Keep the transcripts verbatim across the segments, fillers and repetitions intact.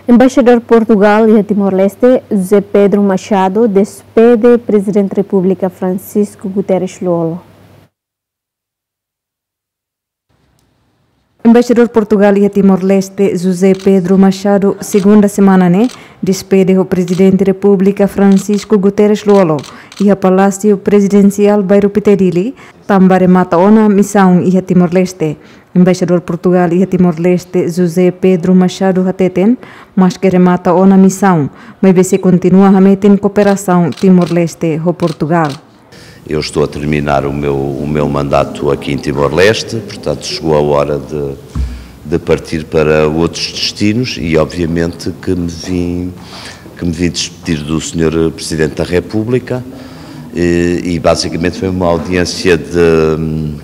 Embaixadór Portugal iha Timor-Leste, José Pedro Machado, despede Prezidente Repúblika Francisco Guterres Lú-Olo. Embaixadór Portugal iha Timor-Leste, José Pedro Machado, segunda semana ne'e, despede ho Prezidente Repúblika Francisco Guterres Lú-Olo, iha Palásiu Prezidensiál Bairru Pite Dili, tanba remata ona misaun iha Timor-Leste. Embaixadór Portugal iha Timor-Leste, José Pedro Machado, hateten, maske remata ona misaun, maibé sei kontinua hametin kooperasaun Timor-Leste ho Portugal. Eu estou a terminar o meu, o meu mandato aqui em Timor-Leste, portanto chegou a hora de, de partir para outros destinos e obviamente que me vim, que me vim despedir do senhor Presidente da República, eh, e basicamente foi uma audiência de,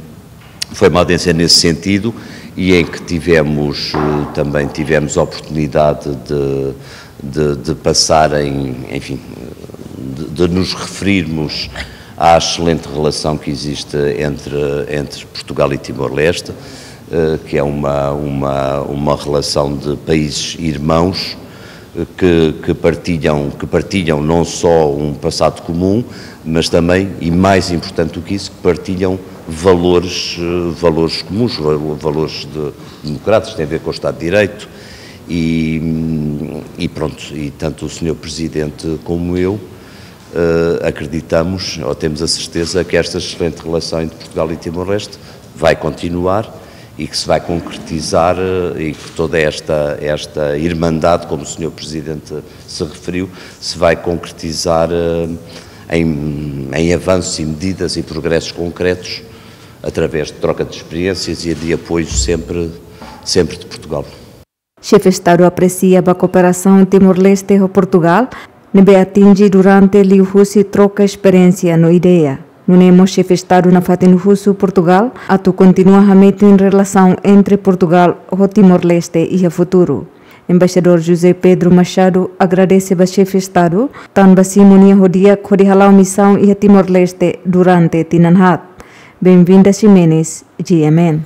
foi uma audiência nesse sentido e em que tivemos, eh, também tivemos a oportunidade de, de, de passarem, enfim, de, de nos referirmos à excelente relação que existe entre, entre Portugal e Timor-Leste, eh, que é uma, uma, uma relação de países irmãos, eh, que, que partilham, que partilham não só um passado comum, mas também, e mais importante do que isso, que partilham valores, eh, valores comuns, val-, valores de, democráticos, têm a ver com o Estado de Direito, e, e pronto, e tanto o senhor Presidente como eu, eh, acreditamos, ou temos a certeza, que esta excelente relação entre Portugal e Timor-Leste vai continuar e que se vai concretizar, eh, e que toda esta, esta irmandade, como o senhor Presidente se referiu, se vai concretizar, eh, em, em avanços e medidas e progressos concretos através de troca de experiências e de apoio sempre, sempre de Portugal. Xefe Estadu apresia ba kooperasaun Timor-Leste ho Portugal, ne'ebé atinje durante liuhusi troka esperiénsia no ideia. Nune'e mós Xefe Estadu nafatin husu Portugal atu kontinua hametin relasaun entre Portugal ho Timor-Leste iha futuru. Embaixadór José Pedro Machado agradese ba Xefe Estadu tanba simu nia ho di'ak hodi hala'o misaun iha Timor-Leste durante tinan haat. Benvinda Ximenes, G M N.